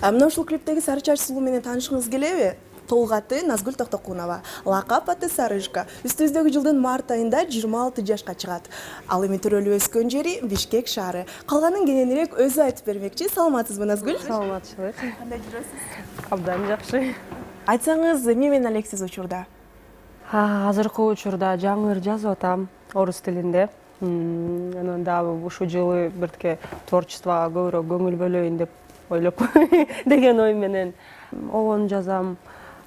Мына ушул клиптеги Сары чач сулуу менен таанышкыңыз келеби? Толук аты Назгүл Токтокунова, лакап аты Сарышка. Үстүбүздөгү жылдын март айында 26 жашка чыгат. Ал эми төрөлүп өскөн жери Бишкек шаары. Калганын кененирээк өзү айтып бермекчи. Саламатсызбы, Назгүл? Саламатчылык. Кандай жүрөсүз? Абдан жакшы. Айтсаңыз, эмне менен элексиз учурда? Азыркы учурда жаңы ыр жазып атам орус тилинде. Анан дагы ушул жылы биртке творчествого көбүрөөк көңүл бөлөйүн деп ойлоп деген ой менен обон жазам,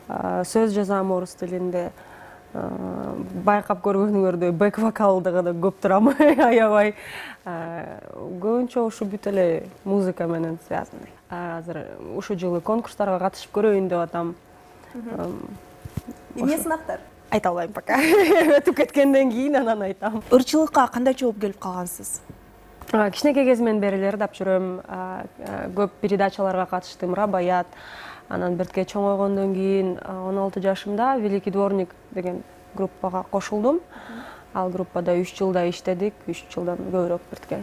сөз жазам орус тилинде. Байкап көргөнүңөрдөй бэк вокалды гана көп турам, аябай. Көбүнчө ушу бүт эле музыка менен связанный. Азыр ушул жылы конкурстарга катышып көрөйүн деп атам. Эмне сынактар? Айта албайм пока. Өтүп кеткенден кийин анан айтам. Ирчылыкка кандайча болуп келип калгансыз? Кичинекей кезимден бери эле ырдап жүрөм. Көп передачаларга катыштым, Рабаят. Анан биртке чоңойгондон кийин 16 жашымда Великий дворник деген группага кошулдум. Ал группада 3 жылда иштедик, 3 жылдан көбүрөөк биртке.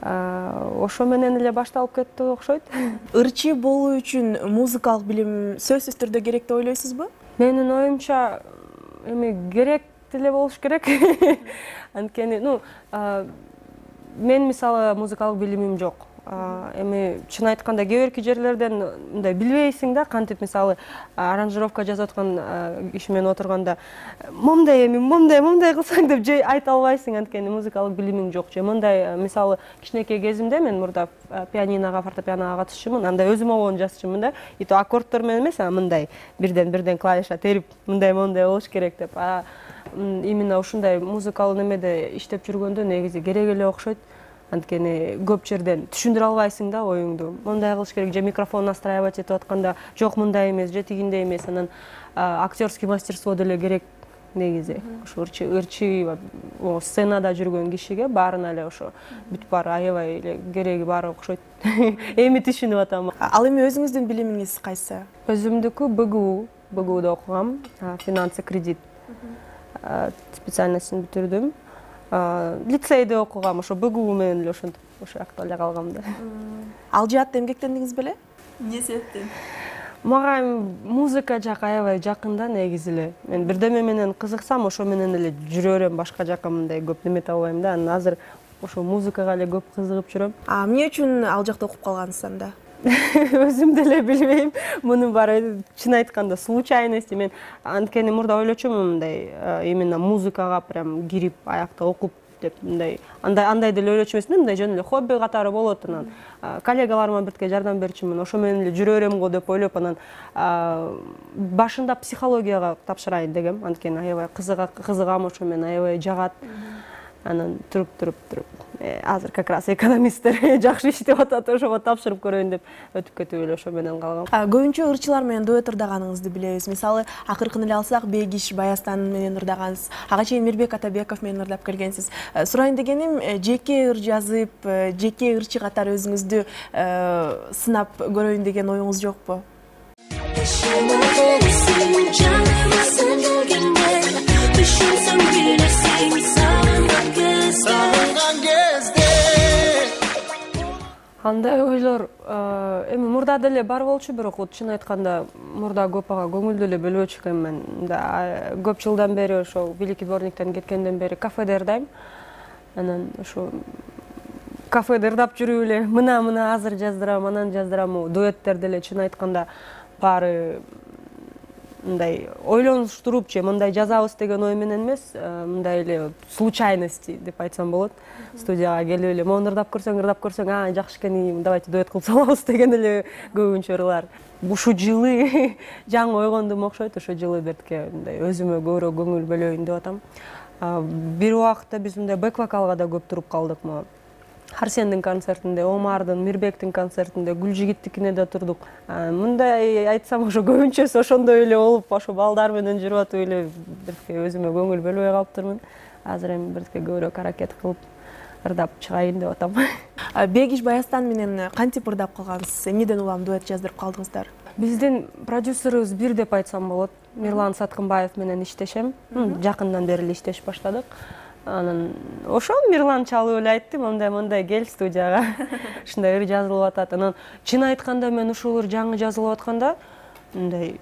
Ошо менен эле башталып кетти окшойт. Ырчы болуу үчүн музыкалык билим сөзсүз түрдө керек деп ойлойсузбу? Менин оюмча эми керек деле болуш керек. Анткени, мен мисалы музыкалык билимим жок. Эми чын айтканда кээ бирки жерлерден мындай билбейсиң да, кантип мисалы аранжировка жазып аткан киши менен отурганда момундай кылсаң деп же айта албайсың, анткени музыкалык билимиң жок. Же мындай мисалы кичинекей кезимде мен мурда пианиного, фортепианого катышчумун, анда өзүм обон жазчумун да. И то аккорддор менен эмес, мындай бирден клавиша терип мындай болуш керек деп. Именно ушундай музыкалык немеде иштеп жүргөндө негизи керек эле окшойт. Анткени көп жерден түшүндүрө албайсың да оюңду. Мындай кылыш керек, же микрофон настраивать этип атканда жок мындай эмес, же тигиндей эмес. Анан актерский мастерство деле керек негизи. Ошо ырчы сценада жүргөн кишиге баарына эле ошо бүт баары аябай эле кереги бар окшойт. Эми түшүнүп атам. Ал эми өзүңүздүн билимиңиз кайсы? Өзүмдүкү БГУда окугам, финансы кредит специальностун бүтүрдүм. Лицейде окугам, ошо БГУ менен эле ошентип ошо жакта эле калгам да. Ал жаатта эмгектендиңиз беле? Эмне себептен? Мага музыка жак аябай жакын да негизи эле. Мен бирдеме менен кызыксам, ошо менен эле жүрө берем, башка жака мындай көп неме таба албайм да. Анан азыр ошо музыкага эле көп кызыгып жүрөм. Эмне үчүн ал жакта окуп калгансыз анда? Өзүм деле билбейм. Мунун баары чын айтканда случайность. Мен анткени мурда ойлочумун мындай именно музыкага прям кирип аякта окуп деп мындай андай деле ойлочу эмесмин, мындай жөн эле хобби катары болот. Анан коллегаларыма биртке жардам берчүмүн, ошо менен эле жүрө берем го деп ойлоп, анан башында психологияга тапшырайын дегем. Анткени аябай кызыгам, ошо менен аябай жагат. Анан туруп азыр как раз экономисттер жакшы иштеп атат, ошого тапшырып көрөйүн деп өтүп кетип эле ошо менен калгам. Көбүнчө ырчылар менен дуэт ырдаганыңызды билебиз. Мисалы, акыркын эле алсак, Бегиш Баястан менен ырдагансыз. Ага чейин Мирбек Атабеков менен ырдап келгенсиз. Сурайын дегеним, жеке ыр жазып, жеке ырчы катары өзүңүздү сынап көрөйүн деген оюңуз жокпу? Андай ойлор эми мурда деле бар болчу, бирок чын айтканда мурда көп ага көңүл деле бөлбөчү экенмин. Көп жылдан бери ошо Великий дворниктен кеткенден бери кафеде ырдайм. Анан ошо кафеде ырдап жүрүп эле мына азыр жаздырам, анан жаздырам. Дуэттер деле чын айтканда баары мындай ойлонуштуруп же мындай жазабыз деген ой менен эмес, мындай эле случайности деп айтсам болот. Студияга келип эле мону ырдап көрсөң, жакшы экен, давайте дуэт кылып салабыз деген эле көбүнчө ырлар. Ушул жылы жаңы ойгондум окшойт, ошол жылы биртке мындай өзүмө көбүрөөк көңүл бөлөйүн деп атам. Бир убакытта биз мындай бэк вокалга да көп туруп калдык. Арсендин концертинде, Омардын, Мирбектин концертинде, Гүлжигиттикине да турдук. Мындай айтсам, ошо көбүнчөсү ошондой эле болуп, ошо балдар менен жүрүп атып эле биртке өзүмө көңүл бөлбөй калыптырмын. Азыр эми биртке көбүрөөк аракет кылып ырдап чыгайын деп атам. Бегиш Баястан менен кантип ырдап калгансыз? Эмнеден улам дуэт жаздырып калдыңыздар? Биздин продюсерибиз бир деп айтсам болот. Мирлан Саткынбаев менен иштешем. Жакындан бери эле иштешип баштадык. Анан ошо Мирлан чалып эле айтты, мындай кел студияга. Ушундай ыр жазылып атат. Анан чын айтканда мен ушул ыр жаңы жазылып атканда мындай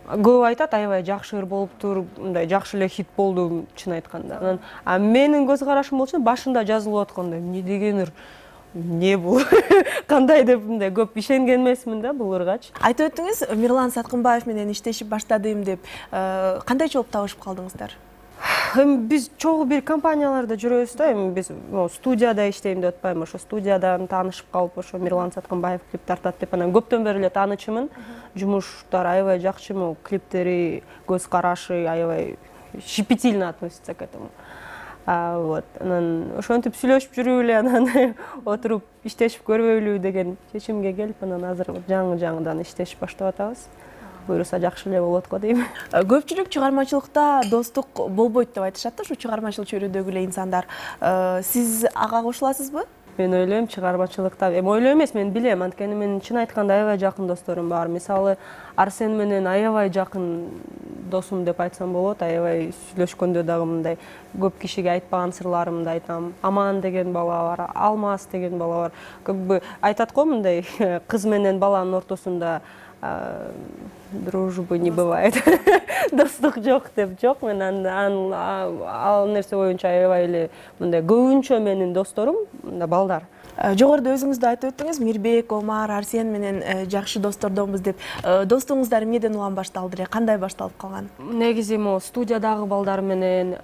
көп айтат, аябай жакшы ыр болуптур, мындай жакшы эле хит болду чын айтканда. Анан менин көз карашым болчу башында жазылып атканда эмне деген ыр, эмне бул, кандай деп мындай көп ишенген эмесмин да бул ыргачы. Айтып өттүңүз, Мирлан Саткынбаев менен иштешип баштадым деп. Кандайча болуп табышып калдыңыздар? Биз чогуу бир компанияларда жүрөбүз да, биз студияда иштейм деп атпайбы, ошо студиядан таанышып калып, ошо Мирлан Саткынбаев клип тартат деп анан көптөн бери эле таанычымын. Жумуштары аябай жакшы, клиптери, көз карашы аябай щепетильно относится к этому. Вот, анан ошентип сүйлөшүп жүрүп эле анан отуруп иштешип көрбөйлү деген чечимге келип, анан азыр жаңыдан иштешип баштап атабыз. Буюрса жакшы эле болот го дейм. Көпчүлүк чыгармачылыкта достук болбойт деп айтышат да, ушу чыгармачыл чөйрөдөгү эле инсандар. Сиз ага кошуласызбы? Мен ойлойм, чыгармачылыкта, ойлойм эмес, мен билем, анткени менин чын айтканда аябай жакын досторум бар. Мисалы, Арсен менен аябай жакын досум деп айтсам болот, аябай сүйлөшкөндө дагы мындай көп кишиге айтпаган сырларымды айтам. Аман деген бала бар, Алмаз деген бала бар. Көбү айтат го мындай кыз менен баланын ортосунда дружбы не бывает, достук жок деп. Жок, мен ал нерсе боюнча аябай эле мындай көбүнчө менин досторум балдар. Жогоруда өзүңүз да айтып өттүңүз, Мирбек, Омар, Арсен менен жакшы достордонбуз деп. Достугуңуздар эмнеден улам башталды эле? Кандай башталып калган? Негизи студиядагы балдар менен,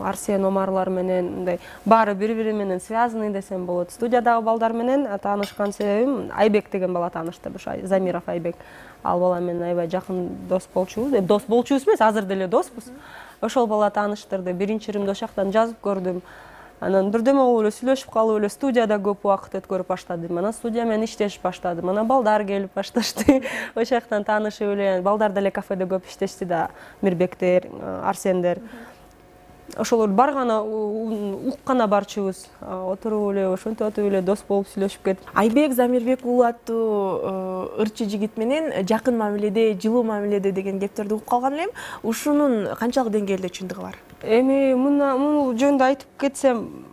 Арсен, Омарлар менен мындай баары бири-бири менен связанный десем болот. Студиядагы балдар менен таанышкан себебим Айбек деген бала тааныштырды, Замиров Айбек. Ал бала менен аябай жакын дос болчубуз. Дос болчубуз эмес, азыр деле доспуз. Ошол бала тааныштырды. Биринчи иримди ошол жактан жазып көрдүм. Анан бирдеме болуп эле сүйлөшүп калып эле студияда көп убакыт өткөрүп баштадым. Анан студия менен иштешип баштадым. Анан балдар келип башташты. Ошол жактан таанышып эле, балдар деле кафеде көп иштешти да, Мирбектер, Арсендер. Ошолор баргана уккана барчыбыз. Отуруп эле, ошентип атып эле дос болуп сүйлөшүп кеттик. Айбек Замирбек уулу аттуу ырчы жигит менен жакын мамиледе, жылуу мамиледе деген кептерди угуп калган элем. Ушунун канчалык деңгээлде чындыгы бар? Эми муну жөнүндө айтып кетсем,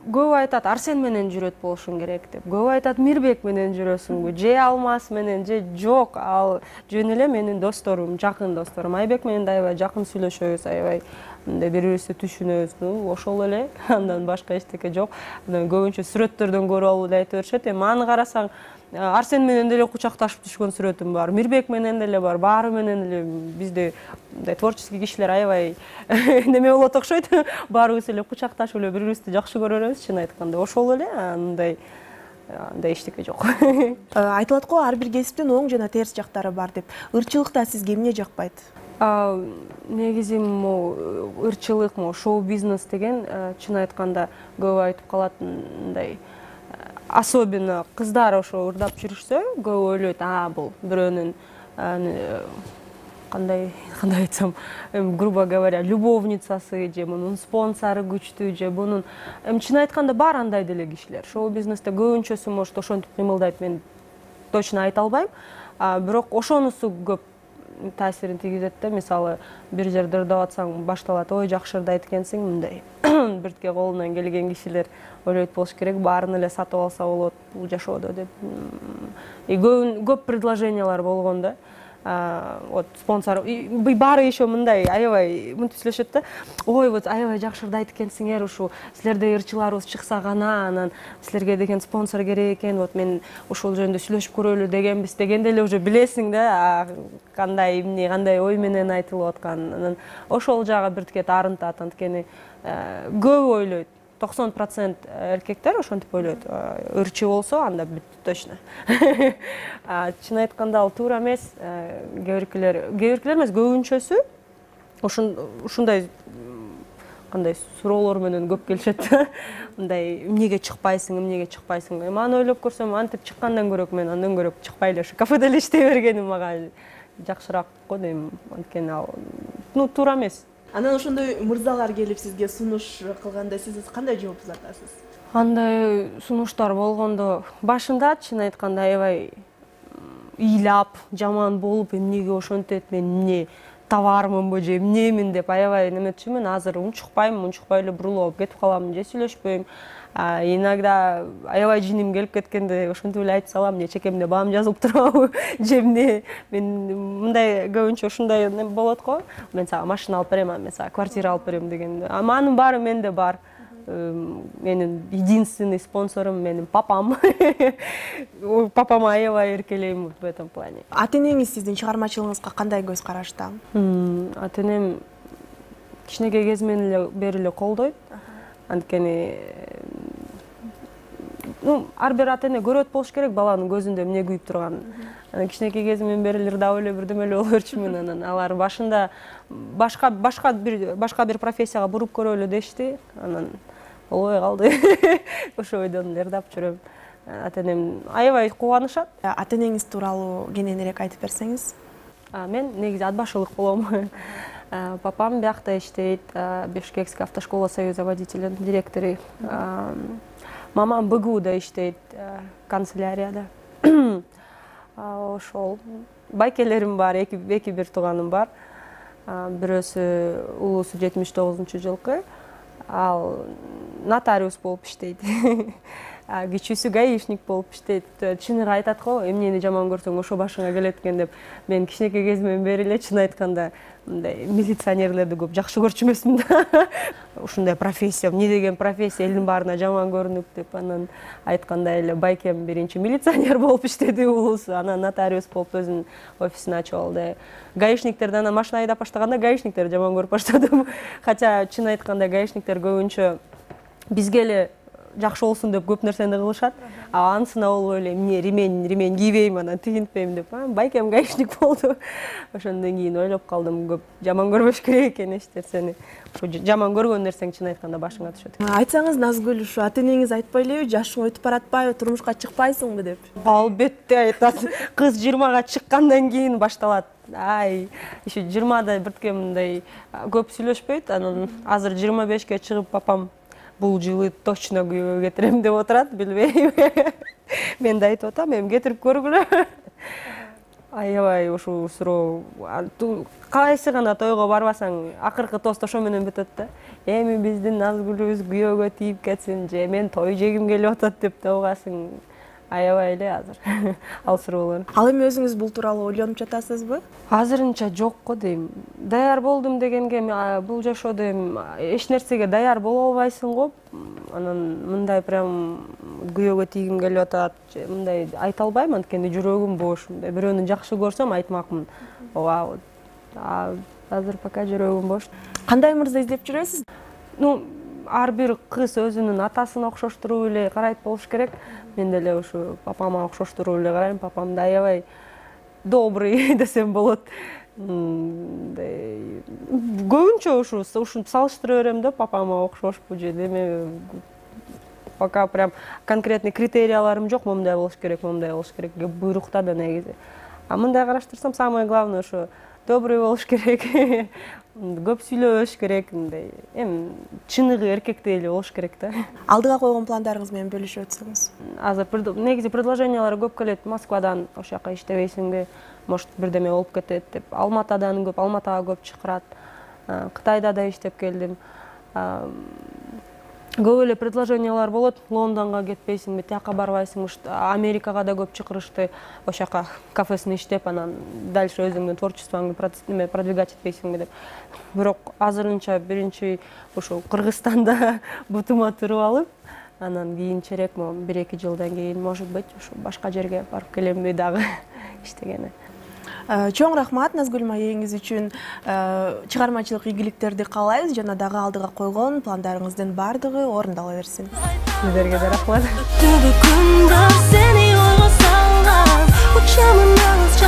көп айтат Арсен менен жүрөт болушуң керек деп. Көп айтат Мирбек менен жүрөсүңбү, же Алмаз менен, же жок. Ал жөн эле менин досторум, жакын досторум. Айбек менен да аябай жакын сүйлөшөбүз, аябай мындай бири-бирибизди түшүнөбүз. Ошол эле, андан башка эчтеке жок. Анан көбүнчө сүрөттөрдөн көрүп алуу деп айтып беришет. Эми аны карасаң, Арсен менен деле кучакташып түшкөн сүрөтүм бар, Мирбек менен деле бар, баары менен эле бизде мындай творческий кишилер аябай неме болот окшойт. Баарыбыз эле кучакташып эле бири-бирибизди жакшы көрөрбүз, чын айтканда. Ошол эле, андай эчтеке жок. Айтылат го, ар бир кесиптин оң жана терс жактары бар деп. Ырчылыкта сизге эмне жакпайт? Негизи ырчылык, шоу-бизнес деген чын айтканда көп айтып калат, мындай особенно кыздар ошо ырдап жүрүшсө, көп ойлойт, бул бирөөнүн кандай айтсам, грубо говоря, любовницасы же мунун спонсору күчтүү же мунун. Чын айтканда бар андай деле кишилер. Шоу-бизнесте көбүнчөсү может ошентип кыймылдайт, мен точно айта албайм. Бирок ошонусу көп таасирин тийгизет да. Мисалы, бир жерде ырдап атсаң башталат, ой жакшы ырдайт экенсиң, мындай биртке колунан келген кишилер ойлойт болуш керек, баарын эле сатып алса болот бул жашоодо деп. Көп предложениялар болгон да. Вот спонсор, баары еще мындай аябай мынтип сүйлөшөт да. Ой, вот аябай жакшы ырдайт экенсиңер, ушу силерде ырчыларыбыз чыкса гана, анан силерге деген спонсор керек экен. Вот мен ошол жөнүндө сүйлөшүп көрөлү дегенбиз, дегенде эле уже билесиң да, кандай эмне, кандай ой менен айтылып атканын. Анан ошол жагы биртке таарынтат, анткени көп ойлойт. 90% эркектер ошентип ойлойт. Ырчы болсо, анда бүттү точно. Чын айтканда ал туура эмес. Кээ биркилер эмес, көбүнчөсү ушундай кандай суроолор менен көп келишет. Мындай эмнеге чыкпайсың? Эми аны ойлоп көрсөм, антип чыккандан көрөк мен андан көрөк чыкпай эле ушу кафеде эле иштей бергеним мага жакшыраак го дейм. Анткени ал туура эмес. Анан ошондой мырзалар келип сизге сунуш кылганда сиз кандай жооп узатасыз? Андай сунуштар болгондо башында чын айтканда аябай ыйлап, жаман болуп, эмнеге ошентет, мен эмне товармынбы же эмнемин деп аябай неметчүмүн. Азыр унчукпайм, унчукпай эле бурулуп алып кетип калам, же сүйлөшпөйм. Иногда аябай жиним келип кеткенде ошентип эле айтып салам, же чекемде баам жазылып турабы, же эмне. Мен мындай көбүнчө ушундай болот го. Мен сага машина алып берем, мен сага квартира алып берем дегенде. Анын баары менде бар. Менин единственный спонсорум менин папам. Папама аябай эркелейм в этом плане. Ата-энеңиз сиздин чыгармачылыгыңызга кандай көз карашта? Ата-энем кичинекей кезимден бери эле колдойт. Анткени ар бир ата-эне көрөт болуш керек баланын көзүндө эмне күйүп турганын. Анан кичинекей кезимден бери эле ырдап эле бирдеме эле боло берчүмүн. Анан алар башында башка бир профессияга буруп көрөлү дешти. Анан болбой калды. Ошо ойдон эле ырдап жүрөм. Ата-энем аябай кубанышат. Ата-энеңиз тууралуу кененирээк айтып берсеңиз? Мен негизи ат башылык болом. Папам биякта иштейт, Бишкекский автошкола союза водителей директору. Мамам БГУда иштейт, канцелярияда. Ошол байкелерим бар, эки бир тууганым бар. Бирөөсү улуусу 79-жылкы, ал нотариус болуп иштейт. Кичүүсү гаишник болуп иштейт. Чыныгы айтат го, эмнени жаман көрсөң ошо башыңа келет экен деп. Мен кичинекей кезимден бери эле чын айтканда мындай милиционерлерди көп жакшы көрчү эмесмин да. Ушундай профессия, эмне деген профессия, элдин баарына жаман көрүнүп деп. Анан айткандай эле байкем биринчи милиционер болуп иштеди улуусу, анан нотариус болуп өзүнүн офисин ачып алды. Гаишниктерди анан машина айдап баштаганда гаишниктерди жаман көрүп баштадым. Хотя чын айтканда гаишниктер көбүнчө бизге эле жакшы болсун деп көп нерсени кылышат. Анысына болбой эле эмне ремень кийбейм, анан тигинтпейм деп. Байкем гаишник болду. Ошондон кийин ойлоп калдым, көп жаман көрбөш керек экен эч нерсени. Ушу жаман көргөн нерсең чын айтканда башыңа түшөт. Айтсаңыз Назгүл, ушу ата-энеңиз айтпай элеби, жашың өтүп баратпайбы, турмушка чыкпайсыңбы деп? Албетте айтат. Кыз 20-га чыккандан кийин башталат. Еще 20-да биртке мындай көп сүйлөшпөйт. Анан азыр 25-ке чыгып папам бул жылы точно күйөөгө кетирем деп отурат, билбейм. Мен да айтып атам, эми кетирип көргүлө. Аябай ушул суроо. Кайсы гана тойго барбасаң, акыркы тост ошо менен бүтөт да. Эми биздин Назгүлүбүз күйөөгө тийип кетсин же мен той жегим келип атат деп да угасың. Аябай эле азыр ал суроолор. Ал эми өзүңүз бул тууралуу ойлонуп жатасызбы? Азырынча жок го дейм. Даяр болдум дегенге бул жашоодо эч нерсеге даяр боло албайсың го. Анан мындай прям күйөөгө тийгим келип атат, мындай айта албайм, анткени жүрөгүм бош. Бирөөнү жакшы көрсөм айтмакмын. Ооба. Азыр пока жүрөгүм бош. Кандай мырза издеп жүрөсүз? Ар бир кыз өзүнүн атасына окшоштуруп эле карайт болуш керек. Мен деле ушу папама окшоштуруп эле карайм. Папам да аябай добрый десем болот. Көбүнчө ушинтип салыштыра берем да, папама окшошпу же деме. Пока прям конкретный критерияларым жок, момундай болуш керек, момундай болуш керек. Буйрукта да негизи. Мындай караштырсам, самое главное ошо добрый болуш керек. Көп сүйлөш керек, мындай. Эми чыныгы эркектей эле болуш керек да. Алдыга койгон пландарыңыз менен бөлүшүп өтсөңүз. Азыр негизи предложениялар көп келет. Москвадан ошол жака иштебейсиңби, может бирдеме болуп кетет деп. Алматадан көп, Алматага көп чакырат. Кытайда да иштеп келдим. Көп эле предложениялар болот. Лондонго кетпейсиңби, тияка барбайсыңбы, Америкага да көп чакырышты. Ошол жака кафесин иштеп, анан дальше өзүңдүн творчествоңду продвигать этпейсиңби деп. Бирок азырынча биринчи ошо Кыргызстанда бутума туруп алып, анан кийинчерээк 1-2 жылдан кийин, может быть, ошо башка жерге барып келемби дагы иштегени. Чоң рахмат Назгүл маегиңиз үчүн. Чыгармачылык ийгиликтерди каалайбыз жана дагы алдыга койгон пландарыңыздын бардыгы орундала берсин. Сиздерге да рахмат. Түбү күндө сени ойго салган, учамын алыс